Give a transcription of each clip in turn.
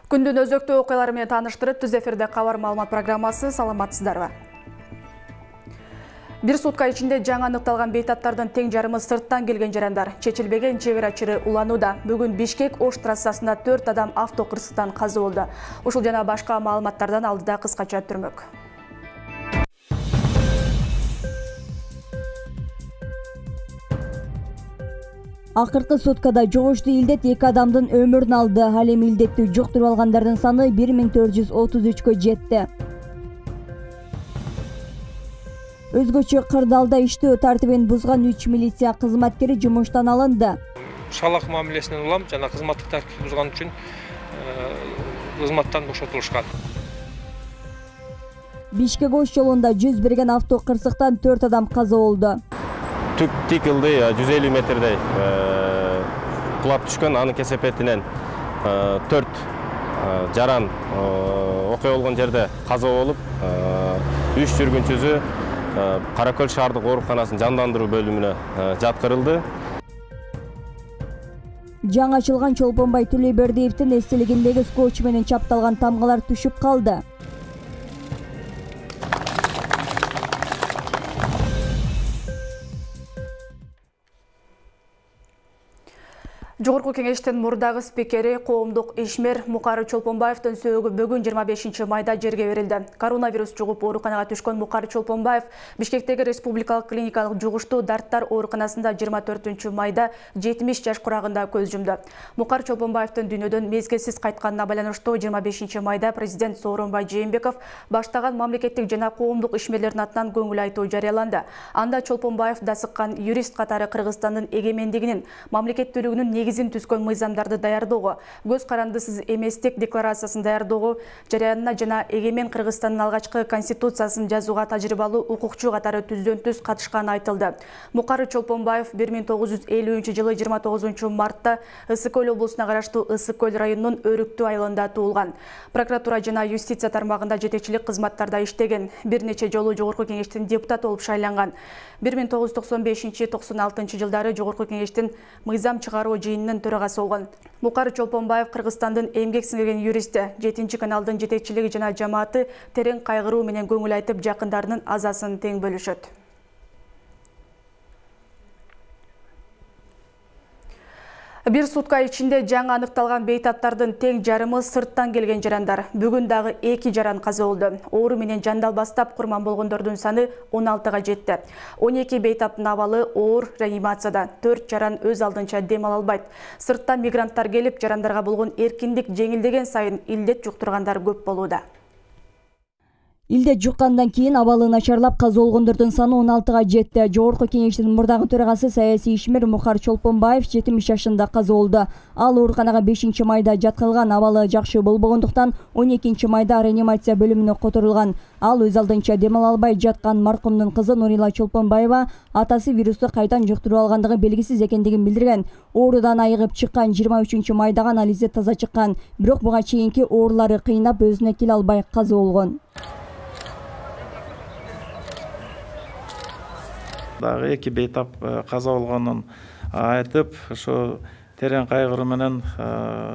Күндүн өзөктүү окуялары менен тааныштырып, түз эфирде кабар маалымат программасы. Саламатсыздарбы? Бир сутка ичинде жаңы аныкталган бейтаптардын тең жарымы сырттан келген жарандар. Чечилбеген чек ара чыры уланууда. Бүгүн Бишкек-Ош трассасында 4 адам автокырсыктан каза болду. Ушул жана башка маалыматтардан алдыда кыскача түрмөк. Акыркы суткада жугуштуу илдет 2 адамдын өмүрүн алды. Ал эми илдетти жуктуруп алгандардын саны 1433кө жетти. Өзгөчө кырдаалда иштөө тартибин бузган 3 милиция кызматкери жумуштан алынды. Шалак мамилесинен улам жана кызматтык тартипти бузган үчүн кызматтан бошотулушкан. Бишкек-Ош жолунда 100 берген автокырсыктан 4 адам каза болду. Түк тикилди 150 метрдей кулап түшкөн, анын кесепетинен 4 жаран окуя болгон жерде каза болуп, 3 жүргүнчүсү Кара Көл шаардык ооруканасынын жандандыруу бөлүмүнө жаткырылды. Жаңы ачылган Чолпонбай Төлөйбердиевдин эстелигиндеги скотч менен чапталган тамгалар түшүп калды. Жогорку кеңештин мурдагы спикери, коомдук ишмер Мукары Чолпонбаевдин сөөгү бүгүн 25 майда жерге берилди. Коронавирус жугуп ооруканага түшкөн Мукары Чолпонбаев Бишкектеги республикалык клиникалык жугуштуу дарттар ооруканасында 24 майда 70 жаш курагында көз жумду. Мукары Чолпонбаевдин дүйнөдөн мезгилсиз кайтканына байланыштуу 25 майда президент Сооронбай Жээнбеков баштаган мамлекеттик жана коомдук ишмерлердин атынан көңүл айтуу жарыяланды. Анда Чолпонбаев дасыккан юрист катары Кыргызстандын эгемендигинин, мамлекеттүүлүгүнүн негизин түзгөн мыйзамдарды даярдоого, көз карандысыз эместик декларациясын даярдоого, жарыянына жана эгемен Кыргызстандын алгачкы конституциясын жазууга тажрыйбалуу укукчу катары түздөн-түз катышканы айтылды. Мукары Чолпонбаев 1950-жылы 29 мартта Ысык-Көл облусуна караштуу Ысык-Көл районунун Өрүктүү айылында туулган. Прокуратура жана юстиция тармагында жетекчилик кызматтарда иштеген. Бир нече жолу Жогорку кеңештин депутаты болуп шайланган. 1995-96 жылдары Жогорку кеңештин мыйзам чыгаруу жыйынынын төрагасы болгон. Мукары Чолпонбаев Кыргызстандын эмгек сиңирген юристи, 7-каналдын жетекчилиги жана жамааты терең кайгыруу менен көңүл айтып, жакындарынын азасын тең бөлүшөт. Бир сутка ичинде жаңы аныкталган бейтаптардын тең жарымы сырттан келген жарандар. Бүгүн дагы 2 жаран каза болду. Оору менен жандалбастап курман болгондордун саны 16га жетти. 12 бейтаптын абалы оор реанимацияда. 4 жаран өз алдынча дем ала албайт. Сырттан мигранттар келип, жарандарга болгон эркиндик жеңилдеген сайын илдет жуктургандар көп болууда. Илдет жуккандан кийин абалы начарлап каза болгондордун саны 16га жетти. Жогорку кеңештин мурдагы төрагасы саясий ишмер Мукары Чолпонбаев 70 жашында каза болду. Ал ооруканага 5 майда жаткырылган, абалы жакшы болбогондуктан 12 майда реанимация бөлүмүнө которулган. Ал өз алдынча дем ала албай жаткан маркумдун кызы Нурила Чолпонбаева атасы вирусту кайдан жуктуруп алгандыгы белгисиз экендигин билдирген. Оорудан айыгып чыккан 23 майда гана Ализе таза чыккан. Бирок буга чейинки оорулары кыйнап өзүнө келе албай каза болгон. Дагы 2 бейтап каза болгонун айтып, ошо терең кайгыруу менен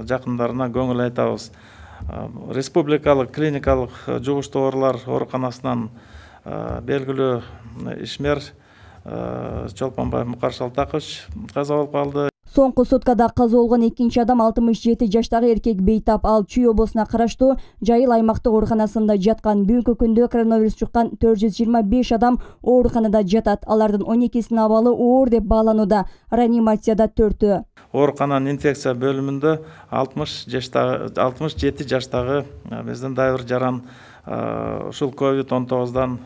жакындарына көңүл айтабыз. Республикалык клиникалык жугуштуу оорулар ооруканасынан белгилүү ишмер Чолпонбаев Мукар Шалтакович каза болуп калды. Соңку суткада каза болгон 2 адам 67 жаштагы эркек бейтап. Ал Чүй облусуна караштуу Жайыл аймактык ооруканасында жаткан. Бүгүнкү күндө коронавирус жуккан 425 адам ооруканада жатат. Алардын 12синин абалы оор деп бааланууда. Реанимацияда 4-ü. Оорукананын инфекция бөлүмүндө 67 жаштагы биздин дайыр жаран ушул COVID-19дан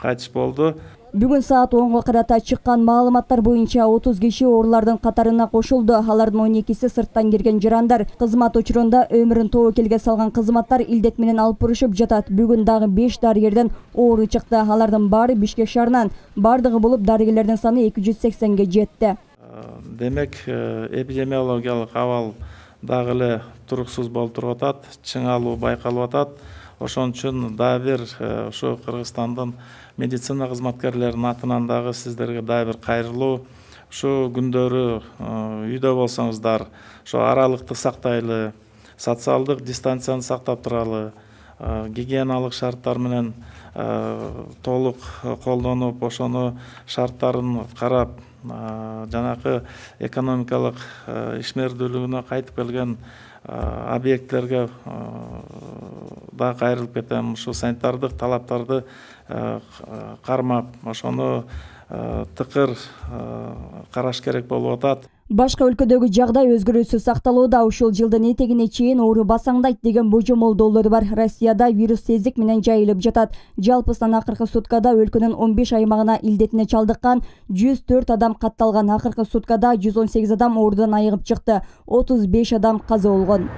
кайтыш болду. Бүгүн саат 10-га карата чыккан маалыматтар боюнча 30 киши оорулардын катарына кошулду. Алардын 12си сырттан келген жарандар. Кызмат учурунда өмүрүн тобокелге салган кызматтар илдет менен алып бурушуп жатат. Бүгүн дагы 5 дарыгерден оору чыкты. Алардын баары Бишкек шаарынан. Бардыгы болуп дарыгерлердин саны 280ге жетти. Демек, эпидемиологиялык абал дагы эле туруксуз болуп туруп атат, чыңалуу байкалып атат. Ошон үчүн дагы бир ошо Кыргызстандын медицина кызматкерлеринин атынан дагы сиздерге дагы бир кайрылуу. Ушу күндөрү үйдө болсоңуздар, ошо аралыкты сактайлы, социалдык дистанцияны сактап туралы, гигиеналык шарттар менен толук колдонуп, ошону шарттарын карап, жанакы экономикалык ишмердүүлүгүнө кайтып келген объекттерге да кайрылып кетем. Ушу санитардык талаптарды кармап, ошону тыкыр караш керек болуп атат. Башка өлкөдөгү жагдай өзгөрүүсүз сакталууда. Ушул жылдын этегине чейин оору басаңдайт деген божомолдоолор бар. Россияда вирус тездик менен жайылып жатат. Жалпысынан акыркы суткада өлкөнүн 15 аймагына илдетине чалдыккан 104 адам катталган. Акыркы суткада 118 адам оорудан айыгып чыкты. 35 адам каза болгон.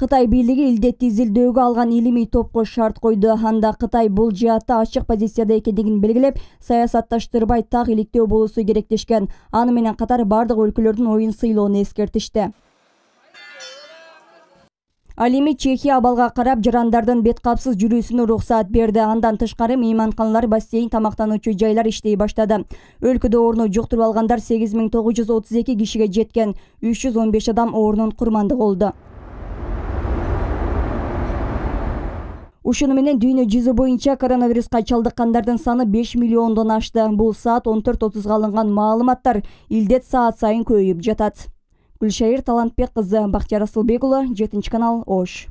Кытай бийлиги илдетти изилдөөгө алган илимий топко шарт койду. Анда Кытай бул жаатта ачык позицияда экендигин белгилеп, саясатташтырбай так иликтөө болуусу керек дешкен. Аны менен катар бардык өлкөлөрдүн оюн сыйлоону эскертишти. Ал эми Чехия абалга карап жарандардын бет капсыз жүрүүсүнө уруксаат берди. Андан тышкары мейманканалар, бассейн, тамактануучу жайлар иштей баштады. Өлкөдө ооруну жуктуруп алгандар 8932 кишиге жеткен. 315 адам оорунун курмандыгы болду. Ушуну менен дүйнө жүзү боюнча коронавируска чалдыккандардын саны 5 миллиондон ашты. Бул саат 14:30 алынган маалыматтар. Илдет саат сайын көбөйүп жатат. Гүлшайыр Талантбек кызы, Бактияр Асылбек уулу, 7 Ош.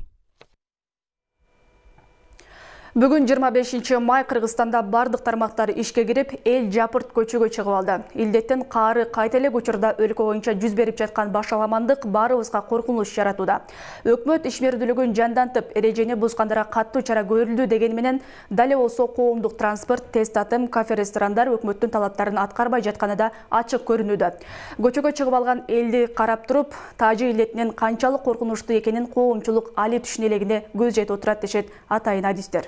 Бүгүн 25 май Кыргызстанда бардык тармактар ишке кирип, эл жапырт көчөгө чыгып алды. Илдеттин каары кайта эле учурда өлкө боюнча жүз берип жаткан башаламандык баарыбызга коркунуч жаратууда. Өкмөт ишмердүүлүгүн жандантып, эрежени бузгандарга каттуу чара көрүлдү дегени менен, дал болсо коомдук транспорт, тест атым, кафе-ресторандар өкмөттүн талаптарын аткарбай жатканы да ачык көрүнүүдө. Көчөгө чыгып алган элди карап туруп, тажы илдетинин канчалык коркунучтуу экенин коомчулук али түшүнө элегине көз жетип отурат дешет атайын адистер.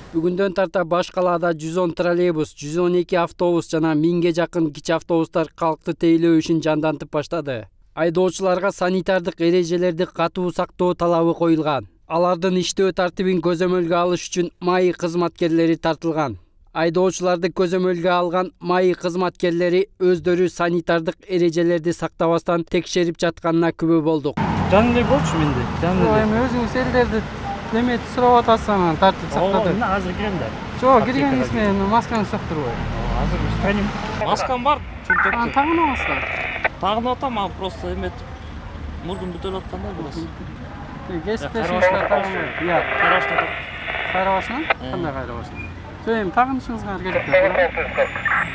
Бүгүндөн тарта баш калаада 110 троллейбус, 112 автобус жана 1000ге жакын кичи автобустар калкты тейлөө ишин жандантып баштады. Айдоочуларга санитардык эрежелерди катуу сактоо талабы коюлган. Алардын иштөө тартибин көзөмөлгө алыш үчүн МАИ кызматкерлери тартылган. Айдоочуларды көзөмөлгө алган МАИ кызматкерлери өздөрү санитардык эрежелерди сактабастан текшерип жатканына күбө болдук. Жаныңдай болчу менде. Жаныңдай. Эми өзүңүз элдерди демет сурап атасың, тартип сактады. Азыр кирем да. Жок, киргениңиз менен масканы сактырбай. Азыр станем. Маскам бар, чөнтөктө. Тагынабызбы? Тагынып атам, а просто эмет мурдум бүтөлүп атканда бираз. Кесиптешиңизге тагынбай. Иә. Карашта. Кайрабашына? Кандай кайрабашына? Жок, тагынышыңызга керекпи?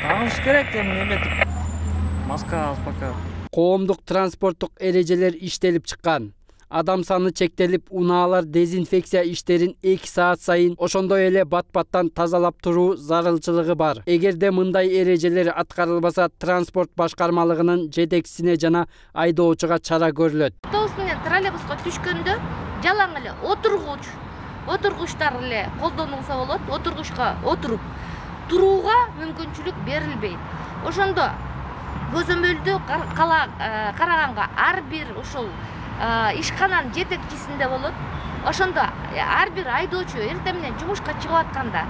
Тагыныш керек, эми эметип. Маска аз пока. Коомдук транспорттук эрежелер иштелип чыккан. Адам саны чектелип, унаалар дезинфекция иштерин 2 саат сайын, ошондой эле бат-баттан тазалап туруу зарылчылыгы бар. Эгерде мындай эрежелер аткарылбаса, транспорт башкармалыгынын жетекчисине жана айдоочуга чара көрүлөт. Автобус менен троллейбуска түшкөндө жалаң эле отургучтар эле колдонулса болот. Отургучка отуруп турууга мүмкүнчүлүк берилбейт. Ошондо көзөмөлдү караганга ар бир ушул ишкананын жетекчисинде болот. Ошондо ар бир айдоочу эртең менен жумушка чыгып атканда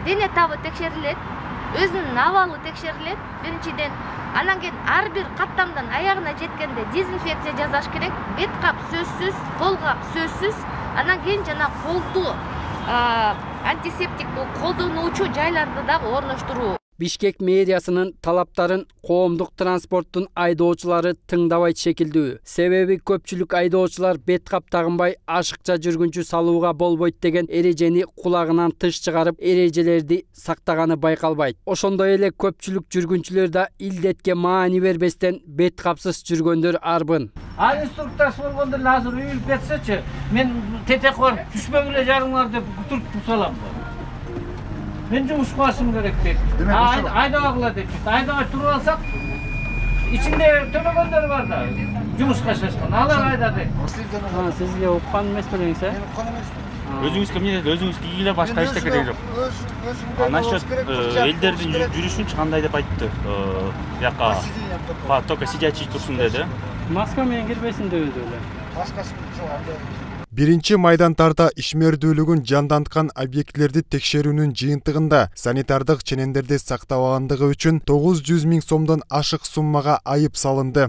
дене табы текшерилет, өзүнүн абалы текшерилет биринчиден. Анан кийин ар бир каттамдан аягына жеткенде дезинфекция жасаш керек. Бет кап сөзсүз, кол кап сөзсүз. Анан кийин жана колду антисептик колдонуучу жайларды да орноштуруу. Бишкек мэриясынын талаптарын коомдук транспорттун айдоочулары тыңдабайт шекилдүү. Себеби көпчүлүк айдоочулар бет кап тагынбай ашыкча жүргүнчү салууга болбойт деген эрежени кулагынан тыш чыгарып, эрежелерди сактаганы байкалбайт. Ошондой эле көпчүлүк жүргүнчүлөр да илдетке маани бербестен бет капсыз жүргөндөр арбын. Ал инструктор болгондо азыр үйүлүп кетсечи, мен тетек барып түшпөгүлө жарыңар деп туртуп салам. Мен жумушка барышым керек дейт. Айдабагыла дейт. Айдабай туруп алсак, ичинде төлөгөндөр бар да. Жумушка шашкан. Алар айда дейт. Сизге уккан эмес белеңиз, э? Өзүңүз кимге өзүңүз кийгиле башка эчтеке керек жок. Насчет элдердин жүрүшүнчү кандай деп айтты. Бияка только сидячий турсун деди. Маска менен кирбесин дебеди эле. Маскасы жок анда. Биринчи майдантарда ишмердүүлүгүн жанданткан объектлерди текшерүүнүн жыйынтыгында санитардык ченемдерди сактабагандыгы үчүн 900 000 сомдон ашык суммага айып салынды.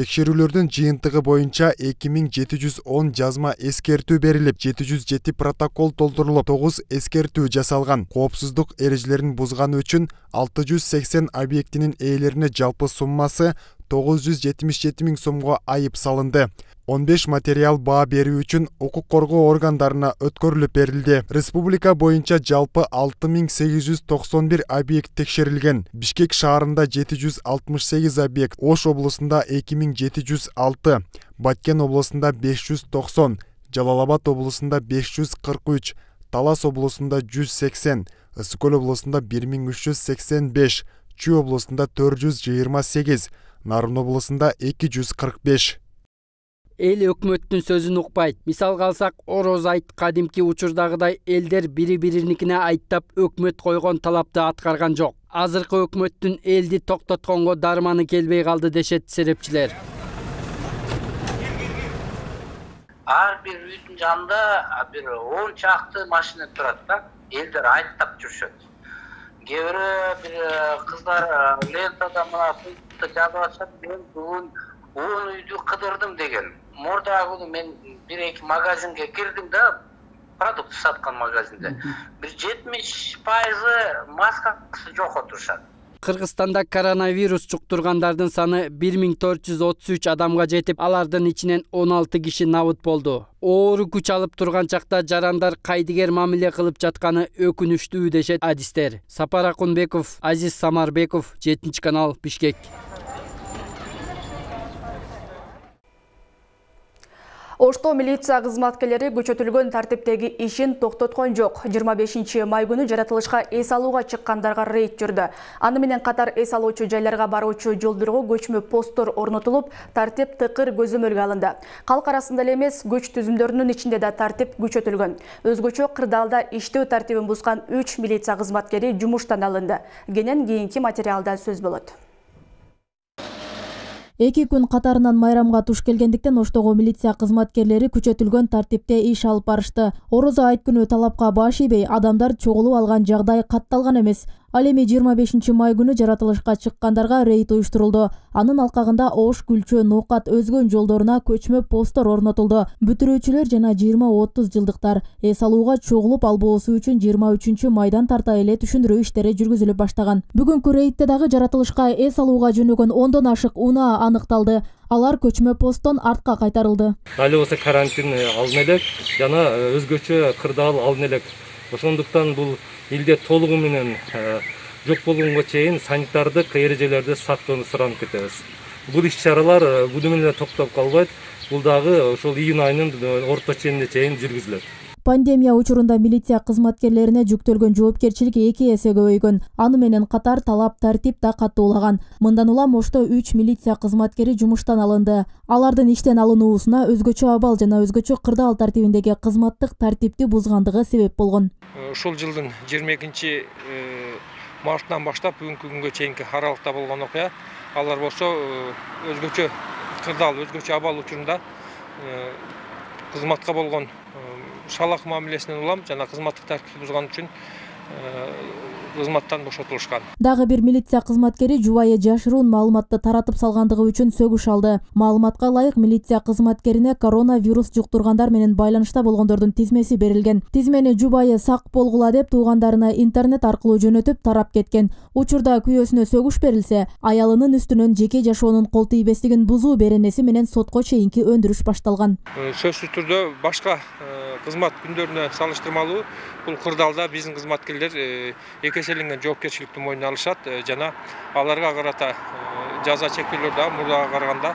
Текшерүүлөрдүн жыйынтыгы боюнча 2710 жазма эскертүү берилип, 707 протокол толтурулуп, 9 эскертүү жасалган. Коопсуздук эрежелерин бузганы үчүн 680 объектинин ээлерине жалпы суммасы 977 000 сомго айып салынды. 15 материал баа берүү үчүн укук коргоо органдарына өткөрүлүп берилди. Республика боюнча жалпы 6891 объект текшерилген. Бишкек шаарында 768 объект, Ош облусунда 2706, Баткен облусунда 590, Жалал-Абад облусунда 543, Талас облусунда 180, Ысык-Көл облусунда 1385, Чүй облусунда 428, Нарын облусунда 245. Эл өкмөттүн сөзүн укпайт. Мисалга алсак, Ороз айт кадимки учурдагыдай элдер бири-бириникине айттап өкмөт койгон талапты аткарган жок. Азыркы өкмөттүн элди токтотконго дарманы келбей калды дешет серепчилер. Ар бир үйдүн жанында бир 10 чакты машина турат да. Элдер айттап жүрүшөт. Кээ бир кыздар лентада мына жазып атышат, мен бүгүн 10 үйдү кыдырдым деген. Мурдагы күнү мен 1-2 магазинге кирдим да, продукт саткан магазинде. Бир 70% маскасы жок отурушат. Кыргызстанда коронавирус жуктургандардын саны 1433 адамга жетип, алардын ичинен 16 киши набыт болду. Оору күч алып турган чакта жарандар кайдыгер мамиле кылып жатканы өкүнүчтүү дешет адистер. Сапар Акунбеков, Азиз Самарбеков, 7-канал, Бишкек. Ошто милиция кызматкерлери көчөтүлгөн тартиптеги ишин токтоткон жок. 25 май күнү жаратылышка эс алууга чыккандарга рейд жүрдү. Аны менен катар эс алуучу жайларга баруучу жолдорго көчмө посттор орнотулуп, тартип тыкыр көзөмөлгө алынды. Калк арасында эле эмес, көч түзүмдөрүнүн ичинде да тартип күчөтүлгөн. Өзгөчө кырдаалда иштөө тартибин бузган 3 милиция кызматкери жумуштан алынды. Кенен кийинки материалда сөз болот. 2 күн катарынан майрамга туш келгендиктен Оштогу милиция кызматкерлери күчөтүлгөн тартипте иш алып барышты. Орозо айт күнү талапка баш ийбей, адамдар чогулуп алган жагдай катталган эмес. Ал эми 25 май күнү жаратылышка чыккандарга рейд уюштурулду. Анын алкагында Ош, Күлчө, Ноокат, Өзгөн жолдоруна көчмө посттор орнотулду. Бүтүрүүчүлөр жана 20-30 жылдыктар эс алууга чогулуп албоосу үчүн 23 майдан тарта эле түшүндүрүү иштери жүргүзүлүп баштаган. Бүгүнкү рейдте дагы жаратылышка эс алууга жөнөгөн 10дон ашык унаа аныкталды. Алар көчмө посттон артка кайтарылды. Али болсо карантин алын элек жана өзгөчө кырдаал алын элек. Ошондуктан бул элде толугу менен жок болгонго чейин санитардык эрежелерди сактоону суранып кетебиз. Бул иш-чаралар буну менен токтоп калбайт. Бул дагы ошол июнь айынын орто ченинде чейин жүргүзүлөт. Пандемия учурунда милиция кызматкерлерине жүктөлгөн жоопкерчилик 2 эсе көбөйгөн. Аны менен катар талап тартип да каттуулаган. Мындан улам Ошто 3 милиция кызматкери жумуштан алынды. Алардын иштен алынуусуна өзгөчө абал жана өзгөчө кырдаал тартибиндеги кызматтык тартипти бузгандыгы себеп болгон. Ушул жылдын 22 мартынан баштап бүгүнкү күнгө чейинки аралыкта болгон окуя, алар болсо өзгөчө кырдаал, өзгөчө абал учурунда кызматка болгон шалак мамилесинен улам жана кызматтык тартипти бузган үчүн кызматтан бошотулушкан. Дагы бир милиция кызматкери жубайы жашыруун маалыматты таратып салгандыгы үчүн сөгүш алды. Маалыматка ылайык милиция кызматкерине коронавирус жуктургандар менен байланышта болгондордун тизмеси берилген. Тизмени жубайы сак болгула деп туугандарына интернет аркылуу жөнөтүп тарап кеткен. Учурда күйөөсүнө сөгүш берилсе, аялынын үстүнөн жеке жашоонун кол тийбестигин бузуу беренеси менен сотко чейинки өндүрүш башталган. Сөзсүз түрдө башка кызмат күндөрүнө салыштырмалуу бул кырдаалда биздин кызматкерлер экеселенген жоопкерчиликти мойнуна алышат жана аларга карата жаза чектөөлөр да мурдага караганда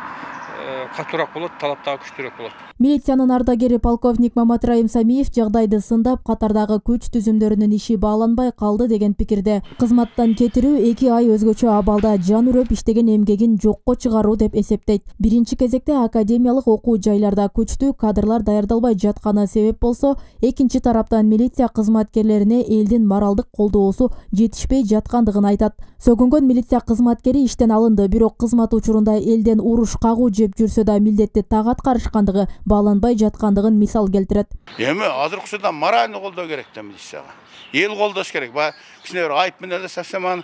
катуураак болот, талап дагы күчтүүрөөк болот. Милициянын ардагери полковник Мамат Раим Самиев жагдайды сындап, катардагы күч түзүмдөрүнүн иши бааланбай калды деген пикирде. Кызматтан кетирүү 2 ай өзгөчө абалда жан үрөп иштеген эмгегин жокко чыгаруу деп эсептейт. Биринчи кезекте академиялык окуу жайларда күчтүү кадрлар даярдалбай жатканы себеп болсо, экинчи тараптан милиция кызматкерлерине элдин моралдык колдоосу жетишпей жаткандыгын айтат. Сөгүнгөн милиция кызматкери иштен алынды, бирок кызмат учурунда элден уруш, кагуу же жеп жүрсө да милдетти так аткарышкандыгы бааланбай жаткандыгын мисал келтирет. Эми азыркы учурда морально колдоо керек да милицияга. Эл колдош керек. Баягы кичине бир айып менен эле совсем аны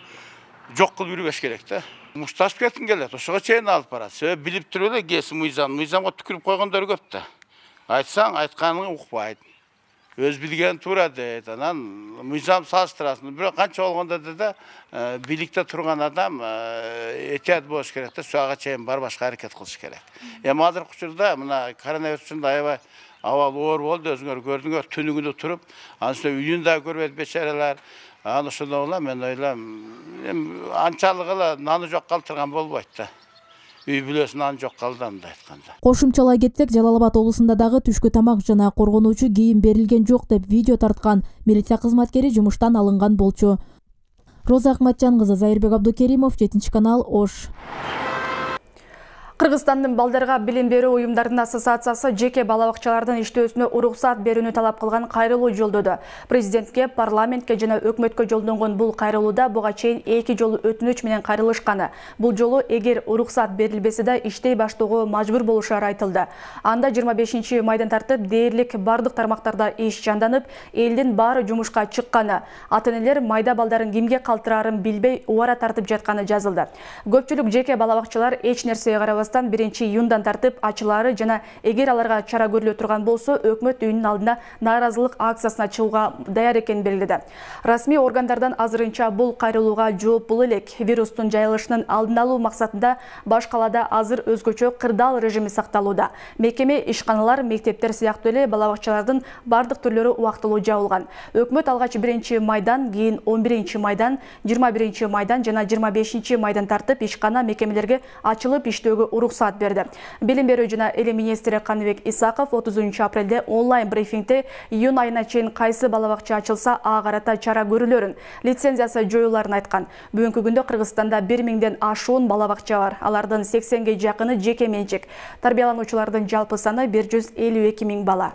жок кылып жүрбөш керек да. Мушташып кеткин келет. Ошого чейин алып барат. Себеби билип туруп эле кээси мыйзамга түкүрүп койгондор көп да. Айтсаң айтканын укпайт. Өз билген туура дейт. Анан мыйзам салыштырасың. Бирок канча болгондо да бийликте турган адам этият болуш керек да, суга чейин барбашка аракет кылыш керек. Эми азыркы учурда мына коронавирус үчүн аябай абал оор болду, өзүңөр көрдүңөр, түнүгүнү туруп, анын үстүнө үйүн да көрбөйт бечаралар. Аны ошондо улам мен ойлойм, анчалык эле наны жок калтырган болбойт да. Үй бүлөсүн наны жок калды андай айтканда. Кошумчалай кетсек, Жалал Абад облусунда дагы түшкү тамак жана коргонуучу кийим берилген жок деп видео тарткан милиция кызматкери жумуштан алынган болчу. Роза Акматжан кызы, Зайырбек Абдукеримов, 7-канал, Ош. Кыргызстандын балдарга билим берүү уюмдарынын ассоциациясы жеке бала бакчалардын иштөөсүнө уруксат берүүнү талап кылган кайрылуу жолдоду. Президентке, парламентке жана өкмөткө жолдонгон бул кайрылууда буга чейин 2 жолу өтүнүч менен кайрылышканы. Бул жолу эгер уруксат берилбесе да иштей баштоого мажбур болушары айтылды. Анда 25 майдан тартып дээрлик бардык тармактарда иш жанданып, элдин баары жумушка чыкканы, ата-энелер майда балдарын кимге калтырарын билбей убара тартып жатканы жазылды. Көпчүлүк жеке бала бакчалар эч нерсеге карабастан 1-июндан тартып ачылары жана эгер аларга чара көрүлө турган болсо өкмөт үйүнүн алдына нааразылык акциясына чыгууга даяр экенин белгиледи. Расмий органдардан азырынча бул кайрылууга жооптуу элек. Вирустун жайылышынын алдын алуу максатында баш калаада азыр өзгөчө кырдаал режими сакталууда. Мекеме, ишканалар, мектептер сыяктуу эле бала бакчалардын бардык түрлөрү убактылуу жабылган. Өкмөт алгач 1-майдан, кийин 11-майдан, 21-майдан жана 25-майдан тартып ишкана мекемелерге ачылып иштөөгө уруксат берди. Билим берүү жана эле министри Каныбек Исаков 30-апрелде онлайн брифингде июнь айына чейин кайсы бала бакча ачылса ага карата чара көрүлөрүн, лицензиясы жоюларын айткан. Бүгүнкү күндө Кыргызстанда 1000ден ашуун бала бакча бар. Алардын 80ге жакыны жеке менчик. Тарбиялануучулардын жалпы саны 152 000 бала.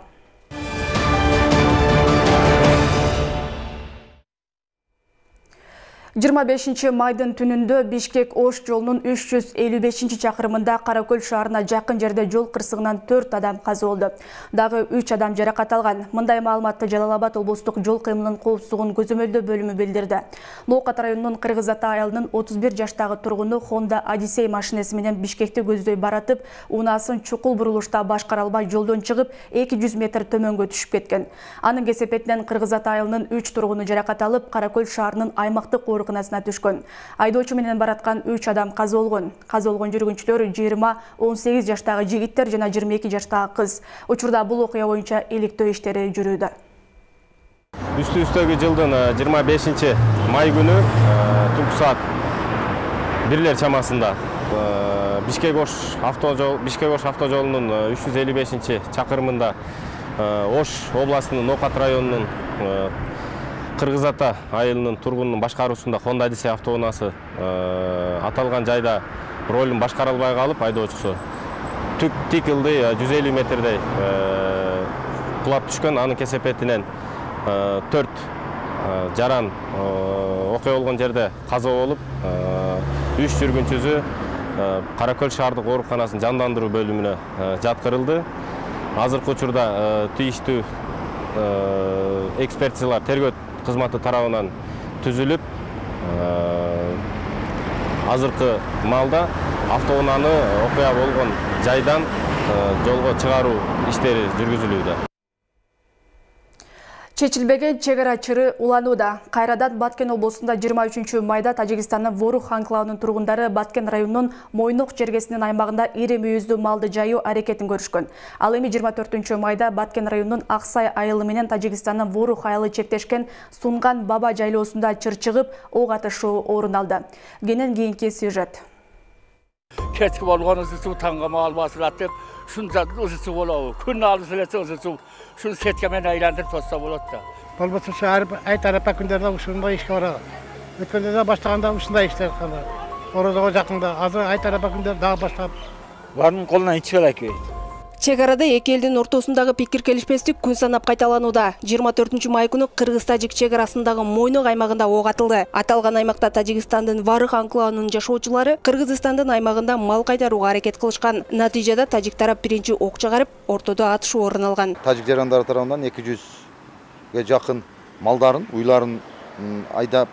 25-майдын түнүндө Бишкек-Ош жолунун 355-чакырымында Каракөл шаарына жакын жерде жол кырсыгынан 4 адам каза болду. Дагы 3 адам жаракат алган. Мындай маалыматты Жалал Абад облустук жол кыймылынын коопсуздугун көзөмөлдөө бөлүмү билдирди. Ноокат районунун Кыргыз Ата айылынын 31 жаштагы тургуну Honda Odyssey машинеси менен Бишкекти көздөй баратып, унаасын чукул бурулушта башкара албай жолдон чыгып 200 метр төмөнгө түшүп кеткен. Анын кесепетинен Кыргыз Ата айылынын 3 тургуну жаракат алып, Каракөл шаарынын аймактык ооруканасына түшкөн. Айдоочу менен бараткан 3 адам каза болгон. Каза болгон жүргүнчүлөр 20-18 жаштагы жигиттер жана 22 жаштагы кыз. Учурда бул окуя боюнча иликтөө иштери жүрүүдө. Үстү-үстөгү жылдын 25-май күнү түнкү саат 1 чамасында Бишкек-Ош автожолунун 355-чакырымында Ош областынын Ноокат районунун Кыргыз Ата айылынын тургунунун башкаруусунда Honda Odyssey автоунаасы аталган жайда ролун башкара албай калып, айдоочусу тик ылдый 150 метрдей кулап түшкөн. Анын кесепетинен 4 жаран окуя болгон жерде каза болуп, 3 жүргүнчүсү Каракөл шаардык ооруканасынын жандандыруу бөлүмүнө жаткырылды. Азыркы учурда тийиштүү экспертизалар тергөө кызматы тарабынан түзүлүп, азыркы маалда автоунааны окуя болгон жайдан жолго чыгаруу иштери жүргүзүлүүдө. Чечилбеген чек ара чыры уланууда. Кайрадан Баткен облусунда 23-майда Тажикстандын Ворух анклавынын тургундары Баткен районунун Мойнок жергесинин аймагында ири мүйүздүү малды жайуу аракетин көрүшкөн. Ал эми 24-майда Баткен районунун Аксай айылы менен Тажикстандын Ворух айылы чектешкен Сунган Баба жайлоосунда чыр чыгып, ок атышуу орун алды. Кенен кийинки сюжет. Кечки болгон ысысуу таңгама албасылат деп, шунча ысысуу болобу. Күн алыс элесе ысысуу. Şunu setkemen aylantırıp tutsa bolot da. Bolmasa şahar ay tarapa күндөрдө ушундай ишке барат. Өткөндө да баштаганда ушундай иштер кылды. Орозого жакында азыр ay tarapa күндөр дагы баштап. Барынын колунан ичип элек. Чек арада эки элдин ортосундагы пикир келишпестик күн санап кайталанууда. 24 май күнү Кыргыз-Тажик чек арасындагы Мойнок аймагында ок атылды. Аталган аймакта Тажикстандын Варык анклавынын жашоочулары Кыргызстандын аймагында мал кайтарууга аракет кылышкан. Натыйжада тажик тарап биринчи ок чыгарып, ортодо атышуу орун алган. Тажик жарандары тарабынан 200ге жакын малдарын, уйларын айдап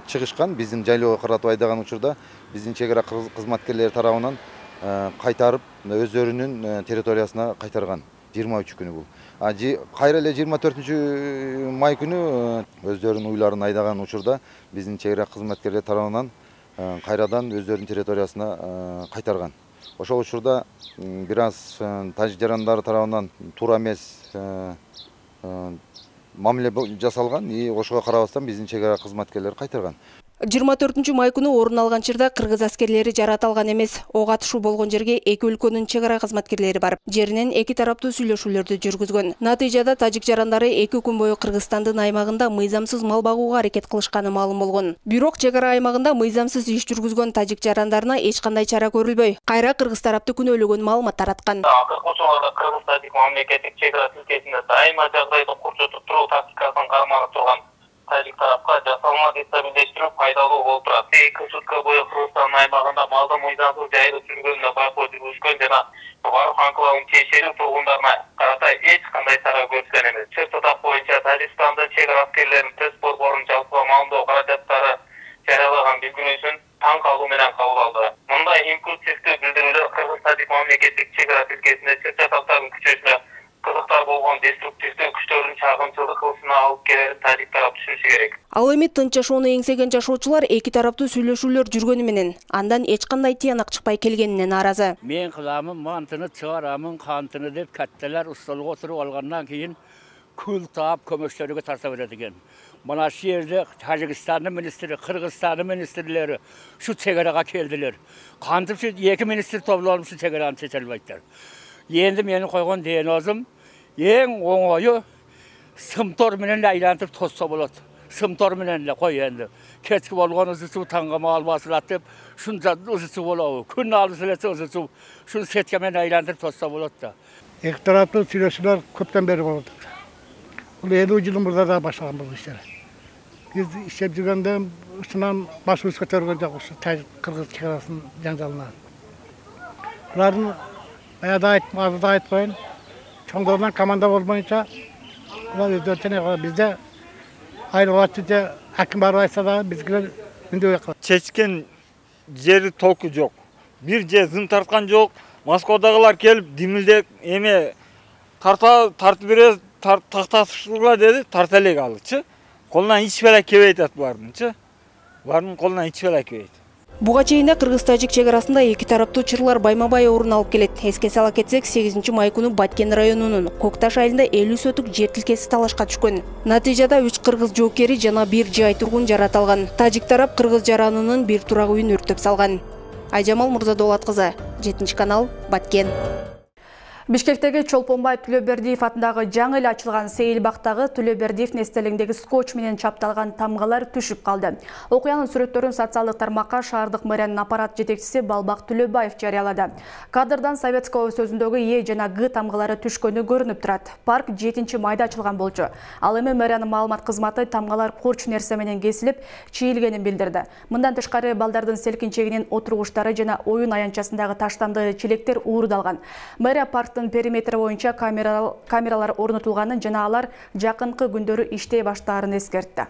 чыгышкан. Биздин жайлоого каратып айдаган учурда биздин чек ара кызматкерлери тарабынан кайтарып өздөрүнүн территориясына кайтарган. 23 күнү бул. Кайра эле 24 май күнү өздөрүнүн уйларын айдаган учурда биздин чек ара кызматкерлери тарабынан кайрадан өздөрүнүн территориясына кайтарган. Ошол учурда бир аз тажик жарандары тарабынан туура эмес мамиле жасалган, ошого карабастан биздин чек ара кызматкерлери кайтарган. 24 май күнү орун алган чырда кыргыз аскерлери жараталган эмес. Ок атышуу болгон жерге эки өлкөнүн чек ара кызматкерлери барып, жеринен эки тараптуу сүйлөшүүлөрдү жүргүзгөн. Натыйжада тажик жарандары 2 күн бою Кыргызстандын аймагында мыйзамсыз мал багууга аракет кылышканы маалым болгон. Бирок чек ара аймагында мыйзамсыз иш жүргүзгөн тажик жарандарына эч кандай чара көрүлбөй. Кайра кыргыз тарапты күнөөлөгөн маалымат тараткан. Кыргыз-Тажик мамлекеттик чек ара тилкесинде дайыма жагдайды курчотуп туруу тактикасын карманып турган тажик тарапка жасалма дестабилдештирүү пайдалуу болуп турат. 2 сутка бою Кыргызстан аймагында малды мыйзамсыз жайылып жүргөнүнө байкоо жүргүзгөн жана Варык анклавынын тиешелүү тургундарына карата эч кандай чара көрүлгөн эмес. Чыт тап боюнча Тажикстандын чек ара аскерлеринин төс борборунун жалпы маалымдоо каражаттары жарыялаган билдирүүсүн таң калуу менен кабыл алды. Мындай импульсивдүү билдирүүлөр Кыргыз-Тажик мамлекеттик чек ара тилкесинде чыт таптардын күчөсүнө кызыктар болгон деструктивдүү күчтөрдүн чагымчылык кылышына алып келерин тажик тарап түшүнүшү керек. Ал эми тынч жашоону эңсеген жашоочулар эки тараптуу сүйлөшүүлөр жүргөнү менен андан эч кандай тыянак чыкпай келгенине нааразы. Мен кыламын, мантыны чыгарамын, кантыны деп катталар устолго отуруп алгандан кийин күл таап көмөчтөрүгө тарта берет экен. Мына шу жерде Тажикстандын министри, Кыргызстандын министрлери шу чек арага келдилер. Кантип шу эки министр топлонуп шу чек араны чече албайттар. Енді менің қойған диагнозым ең оңойы сымтор менен айлантып тосса болады. Сымтор менен қой енді. Кечки болгон ысысуу таңгама албасылат деп, шунча ысысуу болобу. Күн алыс эле ысысуу, шуну сетке менен айлантып тосса болот да. Эки тараптуу сүйлөшүүлөр көптөн бери болуп атат. Бул 50 жылдын мурда да баштаган бул иштер. Биз иштеп жүргөндө ушунан башыбыз көтөргөн жок ушу Кыргыз чек арасынын жаңжалына. Булардын Баяда айтып коюн. Чоңдорунан команда болбойнча бизде айрылатчы же аким барып айтса да бизге үндөбөй калат. Чечкен жери толку жок. Бир же зым тарткан жок. Москвадагылар келип димилдек эме тартып беребиз, такташыла деди, тарта элек алычы. Колунан эч беле келбей атат булардынчы. Булардын колунан эч беле келбейт. Буга чейин Кыргыз-Тажик чек арасында эки тараптуу чырлар байма-бай орун алып келет. Эске сала кетсек, 8 май күнү Баткен районунун Кокташ айылында 50 сотук жер тилкеси талашка түшкөн. Натыйжада 3 кыргыз жоокери жана 1 жай тургун жараталган. Тажик тарап кыргыз жаранынын бир турак үйүн өрттөп салган. Айжамал Мурзадолат кызы, 7 канал, Баткен. Бишкектеги Чолпонбаев Төлөбердиев атындагы жаңы эле ачылган Сейилбактагы Төлөбердиев эстелигиндеги скотч менен чапталган тамгалар түшүп калды. Окуянын сүрөттөрүн социалдык тармакка шаардык мэриянын аппарат жетекчиси Балбак Төлөбаев жарыялады. Кадрдан Советского сөзүндөгү Е жана Г тамгалары түшкөнү көрүнүп турат. Парк 7 майда ачылган болчу. Ал эми мэриянын маалымат кызматы тамгалар корч нерсе менен кесилип, чийилгенин билдирди. Мындан тышкары балдардын селкинчегинин отургучтары жана оюн аянтчасындагы таштанды челектер уурдалган. Мэрия парктын периметри боюнча камералар орнотулганын жана алар жакынкы күндөрү иштей баштаарын эскертти.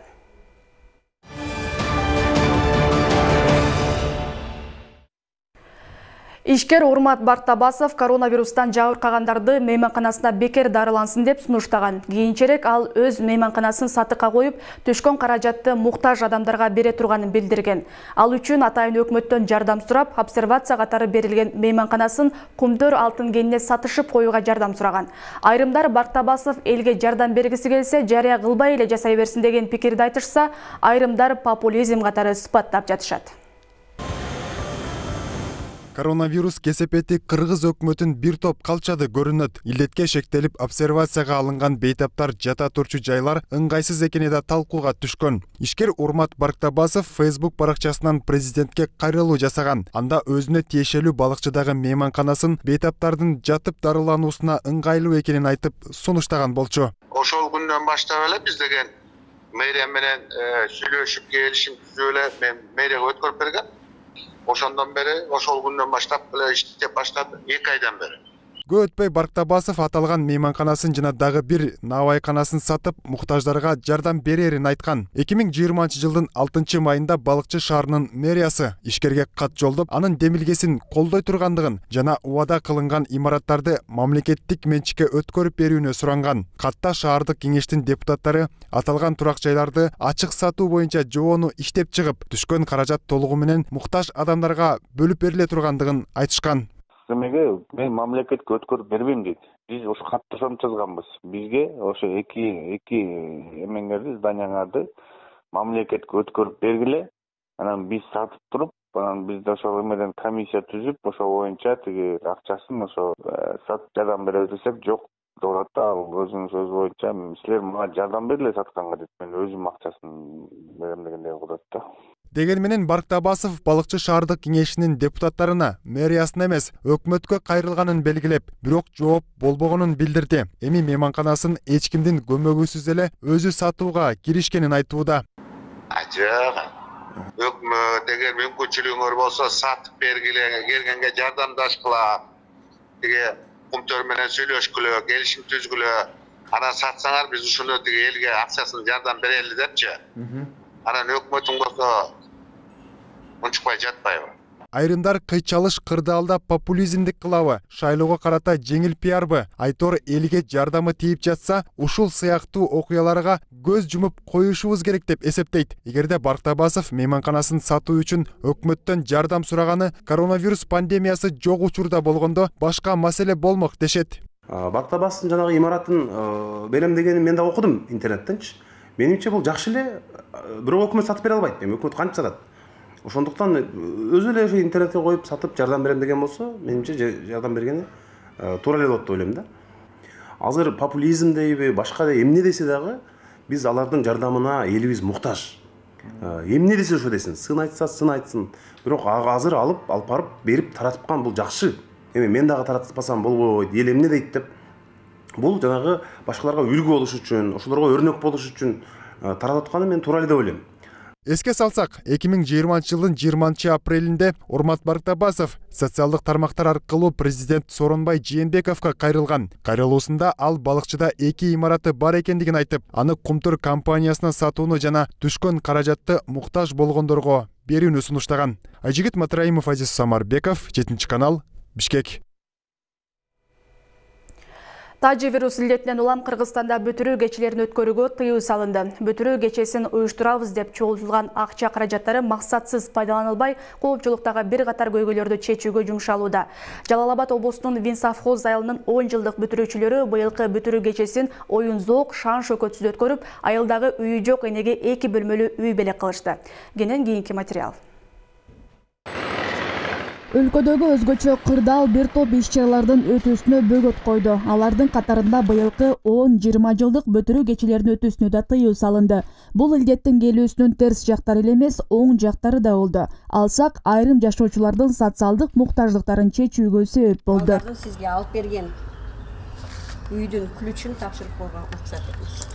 Ишкер Урмат Бартабасов коронавирустан жабыркагандарды мейманканасына бекер дарылансын деп сунуштаган. Кийинчерээк ал өз мейманканасын сатыкка коюп, түшкөн каражатты муктаж адамдарга бере турганын билдирген. Ал үчүн атайын өкмөттөн жардам сурап, обсервация катары берилген мейманканасын Кумдөр алтын кенине сатышып коюуга жардам сураган. Айрымдар Бартабасов элге жардам бергиси келсе, жарыя кылбай эле жасай берсин деген пикирди айтышса, айрымдар популизм катары сыпаттап жатышат. Коронавирус кесепети кыргыз өкмөтүн бир топ калчады көрүнөт. Илдетке шектелип обсервацияга алынган бейтаптар жата турчу жайлар ыңгайсыз экени да талкууга түшкөн. Ишкер Урмат Барктабасов Facebook баракчасынан президентке кайрылуу жасаган. Анда өзүнө тиешелүү балыкчыдагы мейманканасын бейтаптардын жатып дарылануусуна ыңгайлуу экенин айтып сунуштаган болчу. Ошол күндөн баштап эле биз деген мэрия менен сүйлөшүп келишим түзүп эле мен мэрияга өткөрүп берген. Ошондон бери ошол күндөн баштап эле иштеп баштады 2 айдан бери. Көп өтпөй Барктабасов аталган мейманканасын жана дагы бир наабайканасын сатып, муктаждарга жардам берерин айткан. 2020-жылдын 6-майында Балыкчы шаарынын мэриясы ишкерге кат жолдоп, анын демилгесин колдой тургандыгын жана убада кылынган имараттарды мамлекеттик менчикке өткөрүп берүүнү суранган. Катта шаардык кеңештин депутаттары аталган турак жайларды ачык сатуу боюнча жобону иштеп чыгып, түшкөн каражат толугу менен муктаж адамдарга бөлүп бериле тургандыгын айтышкан. Эмеге мен мамлекетке өткөрүп бербейм дейт. Биз ошо катты ошентип жазганбыз. Бизге ошо эки эмеңерди, зданияңарды мамлекетке өткөрүп бергиле. Анан биз сатып туруп, анан биз ошол эмеден комиссия түзүп, ошо боюнча тиги акчасын ошо сатып жардам беребиз десек, жок деп атат да. Ал өзүнүн сөзү боюнча силер мага жардам бергиле сатканга дейт. Мен өзүм акчасын берем дегендей кылып атат да. Деген менен Барктабасов Балыкчы шаардык кеңешинин депутаттарына мэриясына эмес, өкмөткө кайрылганын белгилеп, бирок жооп болбогонун билдирди. Эми мейманканасын эч кимдин көмөгүсүз эле өзү сатууга киришкенин айтууда. Жок. Өкмөт эгер мүмкүнчүлүгүңөр болсо сатып бергиле, келгенге жардамдашкыла. Тиги кумтөр менен сүйлөшкүлө, келишим түзгүлө. Анан сатсаңар биз ушуну тиги элге акчасын жардам берели депчи. Анан өкмөтүң болсо унчукпай жатпайбы? Айрымдар кыйчалыш кырдаалда популизмдик кылабы, шайлоого карата жеңил пиарбы, айтор элге жардамы тийип жатса, ушул сыяктуу окуяларга көз жумуп коюшубуз керек деп эсептейт. Эгерде Барктабасов мейманканасын сатуу үчүн өкмөттөн жардам сураганы коронавирус пандемиясы жок учурда болгондо башка маселе болмок дешет. Барктабасовдун жанагы имаратын берем дегенин мен да окудум интернеттенчи. Менимче бул жакшы эле, бирок өкмөт сатып бере албайт. Эми өкмөт кантип сатат? Ошондуктан өзү эле ошо интернетке коюп сатып жардам берем деген болсо, менимче жардам бергени туура эле болот деп ойлойм да. Азыр популизм дейби, башка да эмне десе дагы биз алардын жардамына элибиз муктаж. Эмне десе ошо десин, сын айтса сын айтсын. Бирок азыр алып барып берип таратыпкан бул жакшы. Эми мен дагы таратпасам болбойт, эл эмне дейт деп. Бул жанагы башкаларга үлгү болуш үчүн, ошолорго өрнөк болуш үчүн таратып атканы мен туура эле деп ойлойм. Эске салсак, 2020-жылдын 20-апрелинде Урмат Барктабасов социалдык тармактар аркылуу президент Сооронбай Жээнбековго кайрылган. Кайрылуусунда ал балыкчыда 2 имараты бар экендигин айтып, аны Кумтур компаниясына сатууну жана түшкөн каражатты муктаж болгондорго берүүнү сунуштаган. Айжигит Матраимов, Азиз Самарбеков, 7-канал, Бишкек. Тажы вирус илдетинен улам Кыргызстанда бүтүрүү кечелерин өткөрүүгө тыюу салынды. Бүтүрүү кечесин уюштурабыз деп чогултулган акча каражаттары максатсыз пайдаланылбай, коопчулуктагы бир катар көйгөйлөрдү чечүүгө жумшалууда. Жалал Абад облусунун Винсовхоз айылынын 10 жылдык бүтүрүүчүлөрү быйылкы бүтүрүү кечесин оюн-зоок, шан-шөкөтсүз өткөрүп, айылдагы үйү жок энеге 2 бөлмөлүү үй белек кылышты. Кенен кийинки материал. Өлкөдөгү өзгөчө кырдаал бир топ иш-чаралардын өтүүсүнө бөгөт койду. Алардын катарында быйылкы 10-20 жылдык бүтүрүү кечелеринин өтүүсүнө да тыюу салынды. Бул илдеттин келүүсүнүн терс жактары эле эмес, оң жактары да болду. Алсак, айрым жашоочулардын социалдык муктаждыктарын чечүүгө себеп болду. Сизге алып берген үйдүн ключун тапшырып койгонго максат этебиз.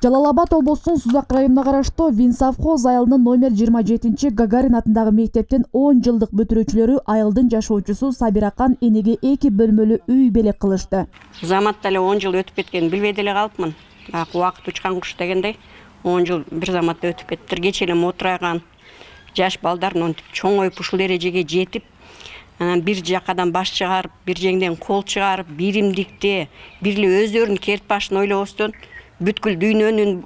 Жалал Абад облусунун Сузак районуна караштуу Винсовхоз айылынын номер 27 Гагарин атындагы мектептин 10 жылдык бүтүрүүчүлөрү айылдын жашоочусу Сабиракан энеге 2 бөлмөлүү үй белек кылышты. Заматта эле 10 жыл өтүп кеткен, билбей деле калыпмын. Убакыт учкан куш дегендей 10 жыл бир заматта өтүп кетти. Кече эле мотураган жаш балдар монтип чоңоюп ушул эрежеге жетип, анан бир жакадан баш чыгарып, бир жеңден кол чыгарып, биримдикте, бирли өздөрүнүн керт башын ойлобостон бүткүл дүйнөнүн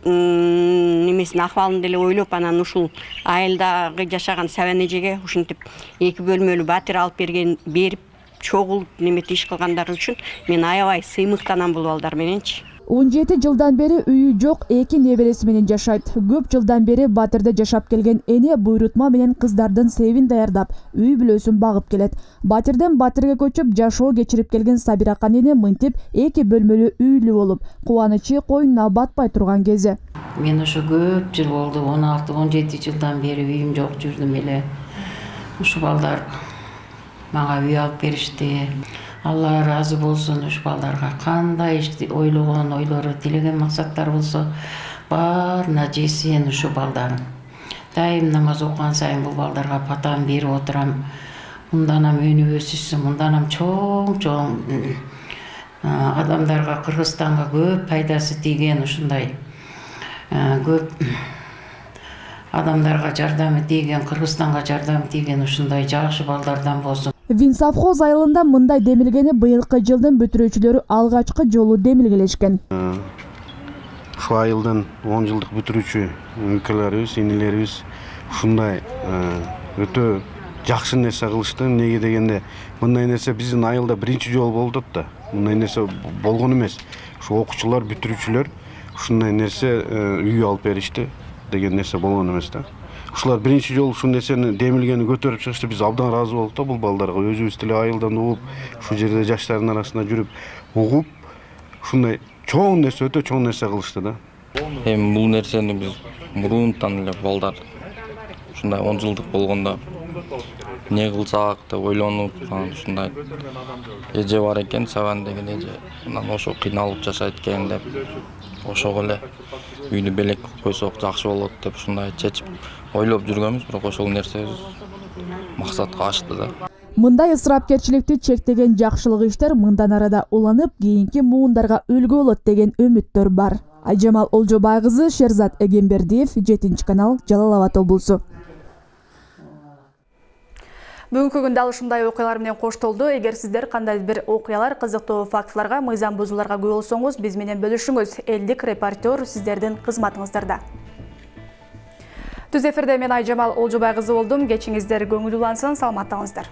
немесин акыбалын деле ойлоп, анан ушул айылдагы жашаган сабан эжеге ушинтип 2 бөлмөлүү батир алып берип чогулуп неметип иш кылгандары үчүн мен аябай сыймыктанам бул балдар мененчи. 17 жылдан бери үйү жок 2 небереси менен жашайт. Көп жылдан бери Батирде жашап келген эне буйрутма менен кыздардын себин даярдап, үй бүлөсүн багып келет. Батирден Батирге көчүп жашоо кечирип келген Сабиракан эне мынтип 2 бөлмөлүү үйлүү болуп, кубанычы койнуна батпай турган кези. Мен ошо көп жыл болду, 16-17 жылдан бери үйүм жок жүрдүм эле. Ушу балдар мага үй алып беришти. Алла разы болсун, ушу балдарга кандай ишти ойлогон ойлору, тилеген максаттар болсо, баарына жесин ушу балдар. Дайым намаз окуган сайын бул балдарга патан берип отурам. Мынданам өнүп өсүшсүн, мынданам чоң адамдарга, Кыргызстанга көп пайдасы тийген ушундай көп адамдарга жардамы тийген, Кыргызстанга жардамы тийген ушундай жакшы балдардан болсун. Винсовхоз айылында мындай демилгени быйылкы жылдын бүтүрүүчүлөрү алгачкы жолу демилгелешкен. Ушул айылдын 10 жылдык бүтүрүүчү өлкөлөрүбүз, инелерибиз ушундай өтө жакшы нерсе кылышты. Эмнеге дегенде, мындай нерсе биздин айылда биринчи жолу болуп атат да. Мындай нерсе болгон эмес. Ушу окуучулар, бүтүрүүчүлөр ушундай нерсе үй алып беришти деген нерсе болгон эмес да. Ушулар биринчи жолу ушул нерсени демилгени көтөрүп чыгышты. Биз абдан ыраазы болдук да бул балдарга. Өзүбүз деле айылдан угуп, ушул жерде жаштардын арасында жүрүп угуп, ушундай чоң нерсе, өтө чоң нерсе кылышты да. Эми бул нерсени биз мурунтан эле балдар ушундай 10 жылдык болгондо не кылсак деп ойлонуп, ушундай эже бар экен, Сабан деген эже. Анан ошо кыйналып жашайт экен деп, ошого эле үйдү белек койсок жакшы болот деп ушундай чечип ойлоп жүргөнбүз, бирок ошол нерсе максатка ашты да. Мындай ысырапкерчиликти чектеген жакшылык иштер мындан арада уланып, кийинки муундарга үлгү болот деген үмүттөр бар. Айжамал Олжобай кызы, Шерзат Эгембердиев, 7 канал, Жалал Абад облусу. Бүгүнкү күндө ушундай окуялар менен коштолду. Эгер сиздер кандайдыр бир окуялар, кызыктуу фактыларга, мыйзам бузууларга күбө болсоңуз, биз менен бөлүшүңүз. Элдик репортер сиздердин кызматыңыздарда. Түз эфирде мен Айжамал Олжобай кызы болдум. Кечиңиздер көңүл улансын, саламаттаңыздар.